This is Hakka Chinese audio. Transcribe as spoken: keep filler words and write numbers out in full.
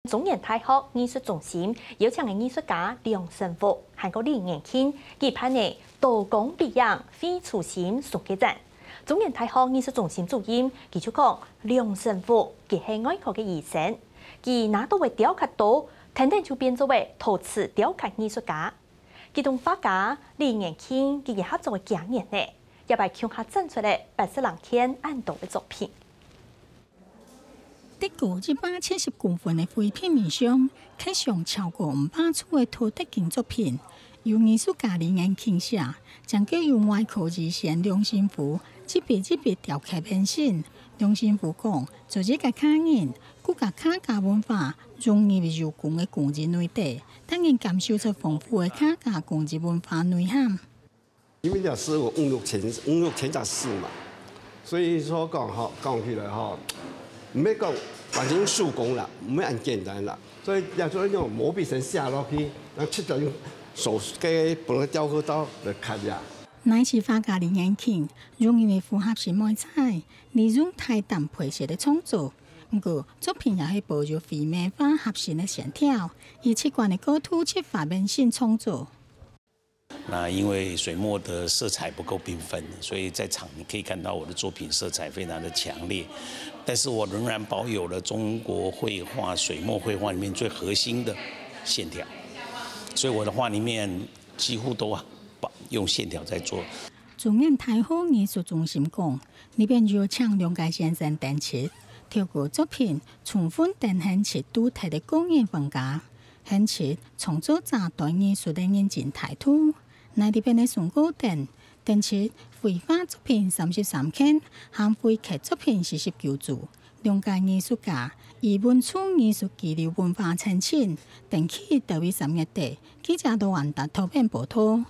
中原大學藝術中心邀請个藝術家梁承福還過李彥慶舉辦个刀光筆影非初心手作展。中原大學藝術中心主任佢就講，梁承福佢係外科个醫生，佢拿到个雕刻刀，跈等就變做个陶瓷雕刻藝術家。其中畫家李彥慶佢也合作个幾年呢，這擺共下展出个八色冷天恁多个作品。 得高一百七十公分个灰平面上，刻上超過五百組个陶德金作品，由藝術家李彥慶寫，正經由外科醫生梁承福一筆一筆雕刻完成。梁承福講，做一個客人，佢將客家文化融入手工个工藝內底，當然感受出豐富个客家工藝文化內涵。 因為這係有五六千、五六千隻字嘛，所以說講吼，講起來吼，毋係講完全用手工啦，毋係恁簡單啦。所以也做用毛筆先寫落去，然後直接用手个本來雕刻刀來刻呀。乃是畫家李彥慶，用因為符合審美彩，利用大膽配色个創作。毋過，作品也係保有繪畫合身个線條，以直觀个角度出發完成創作。 那因为水墨的色彩不够缤纷，所以在场你可以看到我的作品色彩非常的强烈，但是我仍然保有了中国绘画水墨绘画里面最核心的线条，所以我的画里面几乎都用线条在做。中原大學藝術中心講，這擺邀請兩個先生展出，透過作品充分展現出獨特个個人風格。 顯出創作者對藝術个認真態度。內底邊个上高等，展出繪畫作品三十三件，含繪刻作品四十九組。兩個藝術家以文創藝術交流文化層層，展期到位三月底，記者到安達特別報導。